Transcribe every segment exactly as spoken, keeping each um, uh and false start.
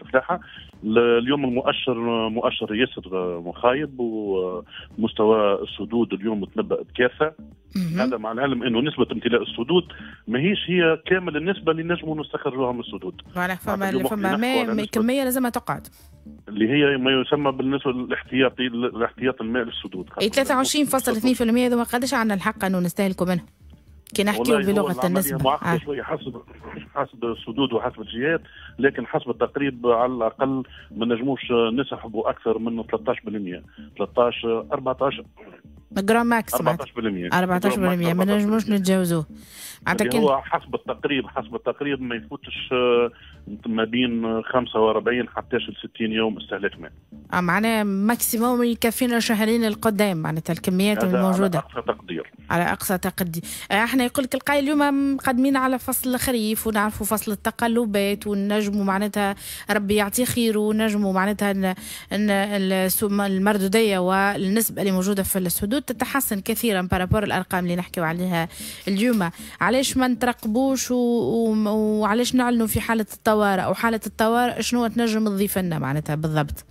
الفلاحة. اليوم المؤشر مؤشر ياسر مخايب، ومستوى السدود اليوم تنبأ بكارثه. هذا مع العلم انه نسبه امتلاء السدود ماهيش هي كامل النسبة اللي نجموا نستخرجوها من السدود. voilà، فما فما ماء كمية لازم تقعد اللي هي ما يسمى بالنسبة الاحتياطي، الاحتياط الماء للسدود. اي ثلاثة وعشرين فاصلة اثنين بالمية هذوما قداش عندنا الحق انه نستهلكوا منه؟ كي نحكيو بلغه النسبة معقدة آه. شوية حسب حسب السدود وحسب الجهات، لكن حسب التقريب على الاقل ما نجموش نسحبوا اكثر من ثلاثة عشر بالمية، ثلاثة عشر أربعة عشر grand max أربعة عشر بالمية. أربعة عشر بالمية ما نجموش نتجاوزوه. معناتها هو حسب التقريب حسب التقريب ما يفوتش آه، ما بين خمسة وأربعين حتى ستين يوم استهلاك ماء. اه معناها maximum يكفينا شهرين القدام، معناتها الكميات الموجودة. على اقصى تقدير. على اقصى تقدير. آه، احنا يقول لك القايل اليوم مقدمين على فصل الخريف ونعرفوا فصل التقلبات، ونجموا معناتها ربي يعطي خير ونجموا معناتها المردوديه والنسبه اللي موجودة في السدود تتحسن كثيرا par rapport الارقام اللي نحكيو عليها اليوم. علاش ما نترقبوش و... وعلاش نعلنوا في حاله الطوارئ؟ او حاله الطوارئ شنو تنجم تضيف لنا معناتها بالضبط؟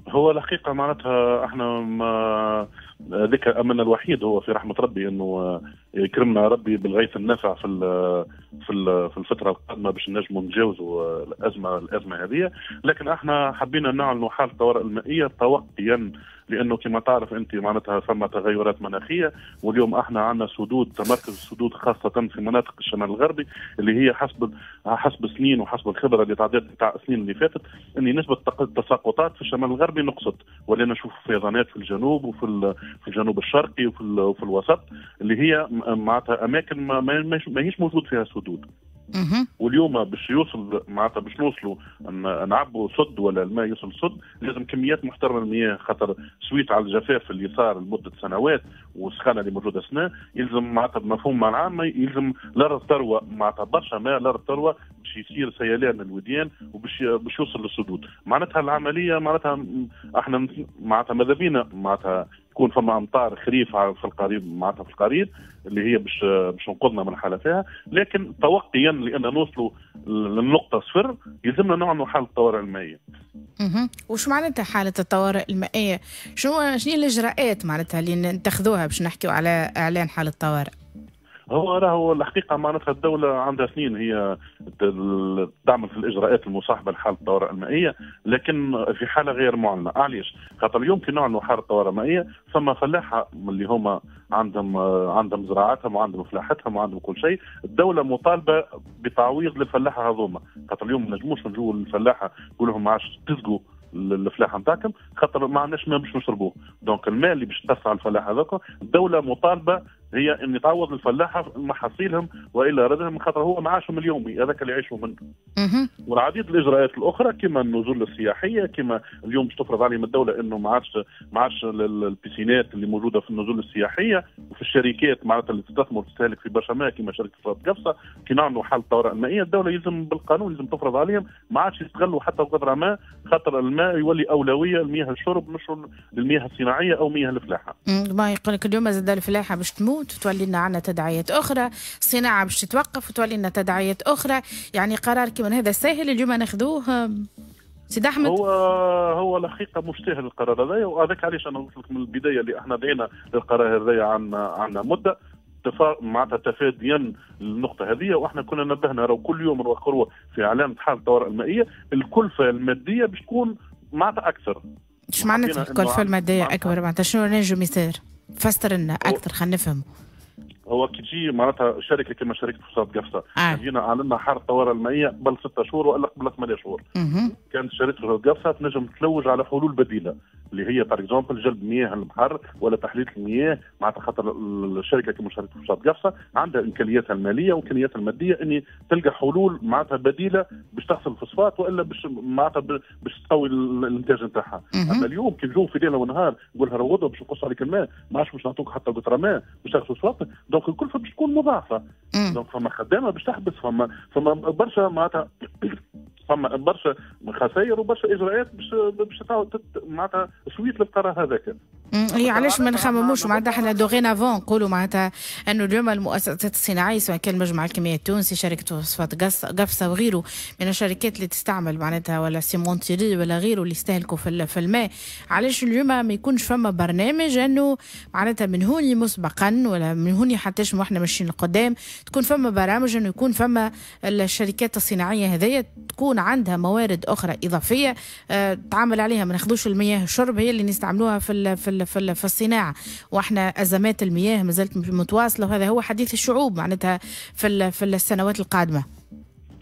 هو الحقيقة معناتها احنا ما ذيك املنا الوحيد هو في رحمه ربي، انه يكرمنا ربي بالغيث النافع في ال في ال في الفترة القادمة باش نجموا نتجاوزوا الازمه الازمه هذه. لكن احنا حبينا نعلنوا حاله الطوارئ المائية توقيا، لانه كما تعرف انت معناتها ثم تغيرات مناخيه، واليوم احنا عندنا سدود، تمركز السدود خاصة في مناطق الشمال الغربي اللي هي حسب حسب سنين وحسب الخبرة اللي تعدت تاع السنين اللي فاتت ان نسبه التساقطات في الشمال الغربي نقصت، ولينا نشوف فيضانات في الجنوب وفي في الجنوب الشرقي وفي وفي الوسط، اللي هي معناتها اماكن ما, ما هيش موجود فيها سدود. واليوم باش يوصل معناتها باش نوصلوا نعبوا سد ولا الماء يوصل سد، لازم كميات محترمه من المياه، خاطر suite على الجفاف اللي صار لمدة سنوات والسخانه اللي موجودة سنه، يلزم معناتها بمفهوم العام يلزم الارض تروى، معناتها برشا ماء الارض تروى باش يصير سيلان الوديان وباش باش يوصل للسدود. معناتها العملية معناتها احنا معناتها ماذا بينا معناتها يكون فما امطار خريف في القريب، معناتها في القريب اللي هي باش باش تنقذنا من الحالة فيها، لكن توقيا لان نوصلوا للنقطة صفر يلزمنا نعلنوا حاله الطوارئ المائيه. اها وش معناتها حاله الطوارئ المائية؟ شنو شنو الاجراءات معناتها اللي نتخذوها باش نحكيو على اعلان حاله الطوارئ؟ هو راهو الحقيقة معناتها الدولة عندها سنين هي تعمل في الاجراءات المصاحبة لحاله الطوارئ المائيه، لكن في حاله غير معلنه. علاش؟ خاطر اليوم كي نعلنوا حاله الطوارئ المائية ثم فلاحة اللي هما عندهم عندهم زراعتهم وعندهم فلاحتهم وعندهم كل شيء، الدولة مطالبه بتعويض للفلاحه هذوما، خاطر اليوم ما نجموش نجوا للفلاحه نقول لهم ما عادش تسقوا الفلاحة نتاعكم خاطر ما عندناش ماء باش نشربوه. donc الماء اللي باش تدفع الفلاح هذاك، الدولة مطالبه هي ان تعوض الفلاحة محاصيلهم والا ردهم، خاطر هو معاشهم اليومي هذاك اللي يعيشوا منه. والعديد الاجراءات الاخرى كما النزول السياحيه، كما اليوم باش تفرض عليهم الدولة انه ما عادش ما عادش ال piscine ات اللي موجودة في النزول السياحية وفي الشركات معناتها اللي تستثمر وتستهلك في برشا ماء كما شركة قفصه. كي نعملوا حاله الطوارئ المائية الدولة يلزم بالقانون يلزم تفرض عليهم ما عادش يستغلوا حتى قطرة ماء، خاطر الماء يولي اولوية لمياه الشرب مش للمياه الصناعية او مياه الفلاحة. ما يقول لك اليوم زاد الفلاحة باش تموت وتولي لنا عندنا تداعيات اخرى، الصناعة باش تتوقف وتولي لنا تداعيات اخرى. يعني قرار كما هذا ساهل اليوم ناخذوه سيد احمد؟ هو هو الحقيقة مش سهل القرار هذايا، وهذاك علاش انا قلت لك من البداية اللي احنا دعينا للقرار هذايا عنا عنا مده معناتها تفاديا للنقطة هذه. واحنا كنا نبهنا راهو كل يوم نوخروا في اعلان حاله الطوارئ المائية الكلفة المادية باش تكون معناتها اكثر. ايش معناتها الكلفة المادية اكبر؟ معناتها شنو نجم يصير؟ فسر لنا اكثر خلينا نفهموا. هو كي تجي معناتها شركة كما شركة فوسفات قفصه آه. جينا اعلنا حاله الطوارئ المائية قبل ستة شهور والا قبل ثمانية شهور، كانت شركة فوسفات قفصه تنجم تلوج على حلول بديله اللي هي par exemple جلب مياه البحر ولا تحلية المياه، معناتها خاطر الشركة كما شركة فوسفات قفصه عندها امكانياتها المالية وامكانياتها المادية ان تلقى حلول معناتها بديله باش تغسل الفوسفات والا باش معناتها باش تقوي الانتاج نتاعها. اما اليوم كي نجوا في ليلة ونهار نقول لها غدوه باش نقص عليك الماء، ما عادش باش نعطوك حتى قطرة ماء باش تغسل الفوسفات، donc الكلفة باش تكون مضاعفه. donc فما خدامه باش تحبس، فما فما برشا معناتها فما برشا خسائر وبرشا اجراءات باش باش معناتها suite للقرار هذاك. هي علاش ما نخمموش معناتها احنا dorénavant نقولوا معناتها انه اليوم المؤسسات الصناعية سواء كان المجمع الكيميائي التونسي، شركة فوسفات قفصه وغيره من الشركات اللي تستعمل معناتها ولا cimenterie ولا غيره اللي يستهلكوا في في الماء، علاش اليوم ما يكونش فما برنامج انه معناتها من هوني مسبقا ولا من هوني حتى واحنا ماشيين لقدام تكون فما برامج انه يكون فما الشركات الصناعية هذيا تكون عندها موارد اخرى اضافية اه تعامل عليها، ما ناخذوش المياه الشرب هي اللي نستعملوها في في في في الصناعة، واحنا ازمات المياه ما زالت متواصلة وهذا هو حديث الشعوب معناتها في في السنوات القادمة.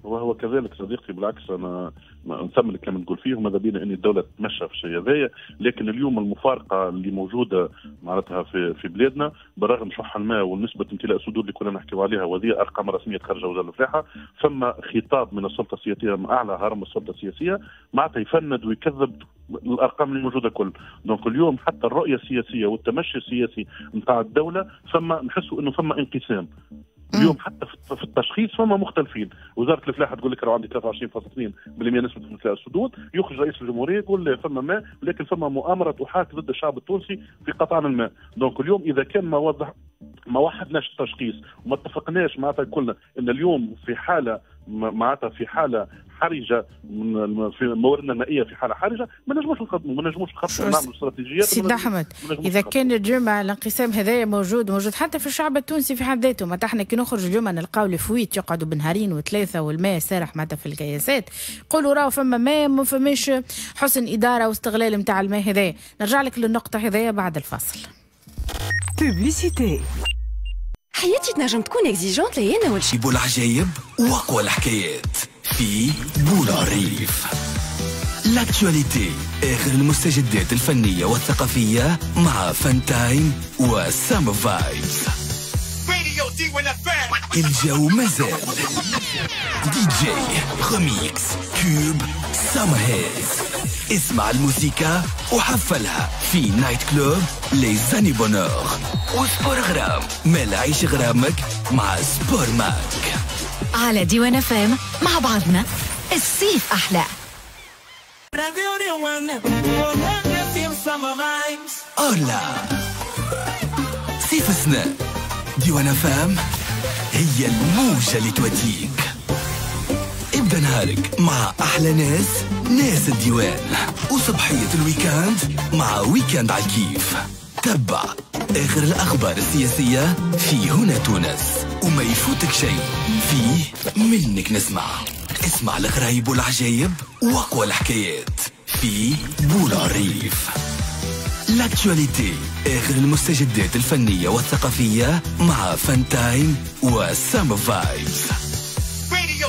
وهو كذلك صديقتي، بالعكس انا نثمن الكلام اللي تقول فيه وماذا بينا ان الدولة تتمشى في الشيء هذايا، لكن اليوم المفارقة اللي موجودة معناتها في في بلادنا بالرغم شح الماء ونسبه امتلاء السدود اللي كنا نحكيو عليها وهذه ارقام رسمية خارجه وزارة الفلاحة، ثم خطاب من السلطة السياسية من اعلى هرم السلطة السياسية معناتها يفند ويكذب الارقام اللي موجودة كل. donc اليوم حتى الرؤية السياسية والتمشي السياسي نتاع الدولة ثم نحسوا انه ثم انقسام. اليوم حتى في التشخيص فما مختلفين، وزارة الفلاحة تقول لك راه عندي ثلاثة وعشرين فاصلة اثنين بالمئة نسبه امتلاء السدود، يخرج رئيس الجمهورية يقول لا فما ماء، لكن فما مؤامرة تحاك ضد الشعب التونسي في قطعان الماء. donc اليوم اذا كان ما وضح ما وحدناش التشخيص وما اتفقناش معناتها كلنا ان اليوم في حاله معناتها في حاله حرجه من في مواردنا المائية في حاله حرجه، ما نجموش نقدموا، ما نجموش نخططوا نعملوا استراتيجيات. سيد احمد، اذا كان اليوم الانقسام هذايا موجود موجود حتى في الشعب التونسي في حد ذاته، معناتها احنا كي نخرج اليوم نلقاو les fuites يقعدوا بنهارين وثلاثة والماء سارح معناتها في الكياسات، قولوا راهو فما ماء ما فماش حسن ادارة واستغلال نتاع الماء هذايا. نرجع لك للنقطة هذايا بعد الفاصل. publicité. حياتي تنجم تكون exigeante لي انا والشي. بو العجايب واقوى الحكايات في بولعريف. l'actualité، اخر المستجدات الفنية والثقافية مع Fun Time و Summer Vibes. الجو مازال DJ remix tubes summer hits. اسمع الموسيقى وحفلها في night club les années bonheur و sport غرام. مال عيش غرامك مع Sport Mag على ديوان فام. مع بعضنا الصيف احلى. أولا صيف السنة ديوان فام هي الموجة اللي تواتيك. ابدأ نهارك مع أحلى ناس، ناس الديوان، وصبحية ال week-end مع week-end على الكيف. تبع آخر الأخبار السياسية في هنا تونس وما يفوتك شيء فيه منك نسمع. اسمع الغرايب والعجايب وأقوى الحكايات في بولعريف. l'actualité، آخر المستجدات الفنية والثقافية مع Fun Time و Summer Vibes.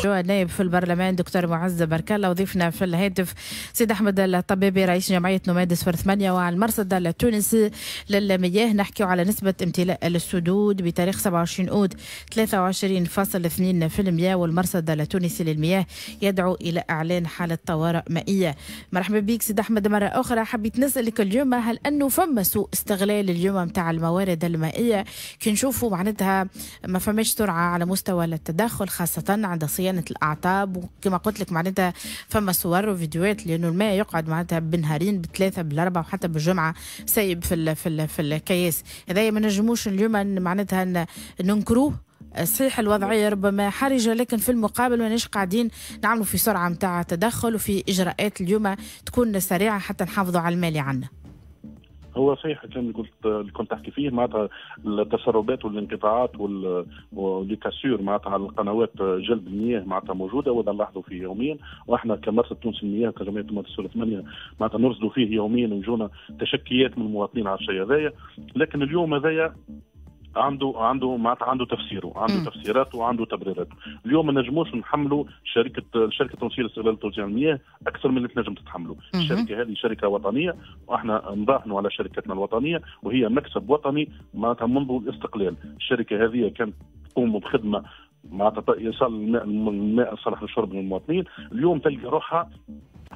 النائب في البرلمان دكتور معز برك الله، وضيفنا في الهاتف سيد احمد الطبيبي رئيس جمعية نوماد صفر ثمانية وعلى المرصد التونسي للمياه. نحكي على نسبه امتلاء السدود بتاريخ سبعة وعشرين اوت ثلاثة وعشرين فاصل اثنين بالمئة، والمرصد التونسي للمياه يدعو الى اعلان حاله طوارئ مائية. مرحبا بك سيد احمد مرة اخرى. حبيت نسالك اليوم، هل انه فما سوء استغلال اليوم نتاع الموارد المائية؟ كي نشوفوا معناتها ما فماش سرعة على مستوى التدخل خاصة عند صيانة الأعطاب، وكما قلت لك معناتها فما صور وفيديوهات لأنه الماء يقعد معناتها بنهارين بثلاثة بالأربعة وحتى بالجمعة سايب في ال في ال في الكياس. هذايا ما نجموش اليوم معناتها ننكروه. صحيح الوضعية ربما حرجة، لكن في المقابل ماناش قاعدين نعملوا في سرعة متاع تدخل وفي إجراءات اليوم تكون سريعة حتى نحافظوا على المال عنا. هو صحيح الكلام اللي قلت اللي كنت تحكي فيه، معناتها التسربات والانقطاعات و les cassures معناتها على القنوات جلب المياه معناتها موجودة وهذا نلاحظوا فيه يوميا، واحنا كمرصد تونسي للمياه كجمعية نوماد صفر ثمانية معناتها نرصدوا فيه يوميا ويجونا تشكيات من المواطنين على الشيء هذايا. لكن اليوم هذايا عنده عنده معناتها عنده تفسيره، عنده تفسيراته وعنده تبريراته. اليوم ما نجموش نحملوا شركة الشركة التونسية لاستغلال توزيع المياه اكثر من اللي تنجم تتحمله. الشركة هذه شركة وطنية واحنا نراهنوا على شركتنا الوطنية وهي مكسب وطني معناتها منذ الاستقلال. الشركة هذه كانت تقوم بخدمة معناتها يصل الماء الماء الصالح للشرب للمواطنين. اليوم تلقى روحها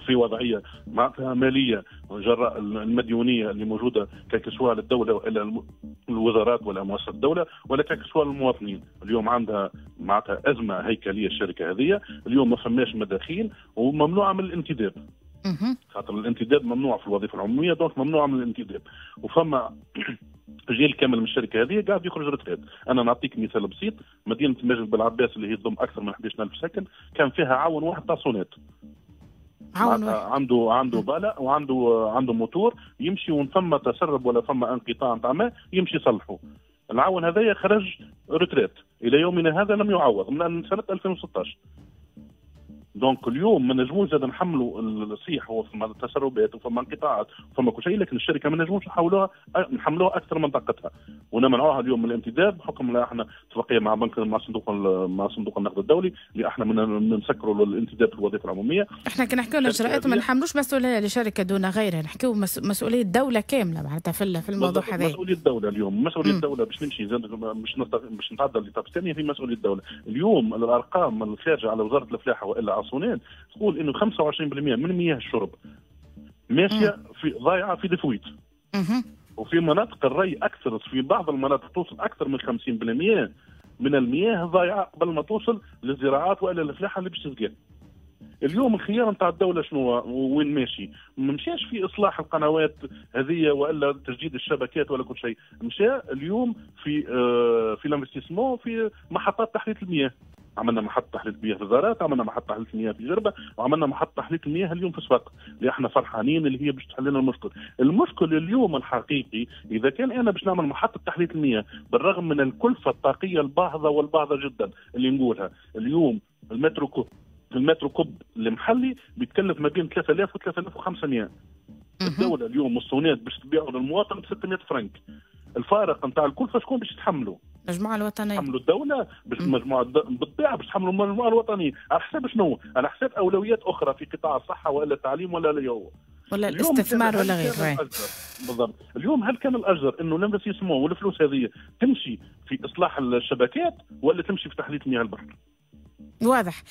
في وضعية معناتها ماليه جراء المديونيه اللي موجودة كسواء للدولة ولا الوزارات ولا مؤسسات الدولة ولا كسواء للمواطنين. اليوم عندها معناتها ازمة هيكلية الشركة هذه، اليوم ما فماش مداخيل وممنوعه من الانتداب. خاطر الانتداب ممنوع في الوظيفة العموميه، donc ممنوع من الانتداب، وفما جيل كامل من الشركة هذه قاعد يخرج retraite. انا نعطيك مثال بسيط، مدينة ماجل بالعباس اللي هي تضم اكثر من أحد عشر ألف ساكن، كان فيها عون واحد تاع صوناد. عون واحد. عنده عنده pale وعنده عنده موتور، يمشي وين فما تسرب ولا فما انقطاع نتاع ماء يمشي يصلحه. العون هذايا خرج retraite، الى يومنا هذا لم يعوض من سنة ألفين وستة عشر. donc اليوم ما نجموش زاد نحملوا الصيح، هو فما تسربات وفما انقطاعات وفما كل شيء، لكن الشركة ما نجموش نحولوها نحملوها اكثر من طاقتها ونمنعوها اليوم من الانتداب، بحكم احنا اتفاقية مع بنك مع صندوق مع صندوق النقد الدولي اللي احنا من نسكروا الانتداب في الوظيفة العموميه. احنا كي نحكيو الاجراءات ما نحملوش مسؤولية لشركة دون غيرها، نحكيو مسؤولية الدولة كاملة معناتها في في الموضوع هذا. مسؤولية الدولة اليوم، مسؤولية الدولة باش نمشي باش باش نتعدى l'étape الثانية في مسؤولية الدولة. اليوم الارقام الخارجة على وزارة الفلاحة والا على صوناد تقول انه خمسة وعشرين بالمية من مياه الشرب ماشية في ضايعة في des fuites، وفي مناطق الري اكثر، في بعض المناطق توصل اكثر من خمسين بالمية من المياه ضايعة قبل ما توصل للزراعات والا الفلاحة اللي باش تسقي. اليوم الخيار نتاع الدولة شنو؟ وين ماشي؟ ما مشاش في اصلاح القنوات هذه والا تجديد الشبكات ولا كل شيء، مشى اليوم في آه في l'investissement في محطات تحلية المياه. عملنا محطة تحلية المياه في زارات، عملنا محطة تحلية المياه في جربه، وعملنا محطة تحلية المياه اليوم في صفاقس، اللي احنا فرحانين اللي هي باش تحل لنا المشكل. المشكل اليوم الحقيقي، اذا كان انا باش نعمل محطة تحلية المياه، بالرغم من الكلفة الطاقية الباهظه والباهظه جدا اللي نقولها اليوم، ال mètre cube ال mètre cube المحلي بيتكلف ما بين ثلاثة آلاف و ثلاثة آلاف وخمسمية. الدولة اليوم الصوناد باش تبيعه للمواطن ب ستمية فرنك. الفارق نتاع الكلفة شكون باش يتحملوا؟ المجموعة الوطنيه. تحملوا الدوله، باش المجموعة بالطبيعة باش تحملوا المجموعة الوطنيه، على حساب شنو؟ على حساب اولويات اخرى في قطاع الصحة ولا التعليم ولا اليوم ولا الاستثمار ولا غيره. بالضبط. اليوم هل كان الاجدر انه l'investissement والفلوس هذه تمشي في اصلاح الشبكات ولا تمشي في تحلية مياه البحر؟ واضح.